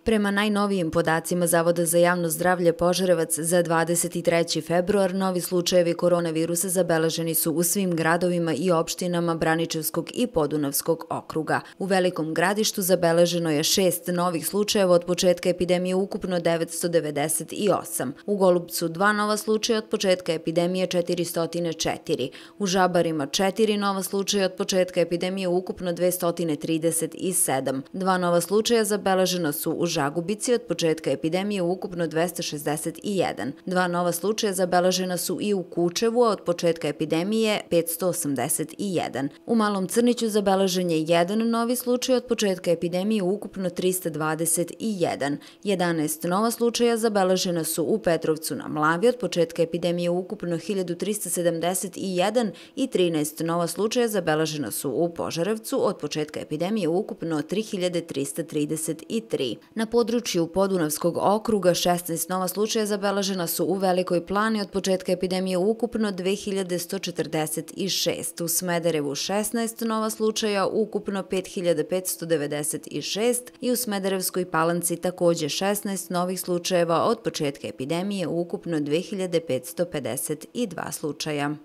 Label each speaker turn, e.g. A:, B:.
A: Prema najnovijim podacima Zavoda za javno zdravlje Požarevac za 23. februar novi slučajevi koronavirusa zabeleženi su u svim gradovima i opštinama Braničevskog i Podunavskog okruga. U Velikom Gradištu zabeleženo je 6 novih slučajeva od početka epidemije, ukupno 998. U Golubcu 2 nova slučaja od početka epidemije 404. U Žabarima 4 nova slučaja od početka epidemije, ukupno 237. 2 nova slučaja zabeležena su u Žagubici od početka epidemije, ukupno 261. 2 nova slučaja zabeležena su i u Kučevu, a od početka epidemije 581. U Malom Crniću zabeležen je 1 novi slučaj od početka epidemije, ukupno 321. 11 nova slučaja zabeležena su u Petrovcu na Mlavi od početka epidemije, ukupno 1371 i 13 nova slučaja zabeležena su u Požarevcu od početka epidemije, ukupno 3333. Na području Podunavskog okruga 16 nova slučaja zabeležena su u Velikoj Plani od početka epidemije, ukupno 2146. U Smederevu 16 nova slučaja, ukupno 5596 i u Smederevskoj Palanci takođe 16 novih slučajeva od početka epidemije, ukupno 2552 slučaja.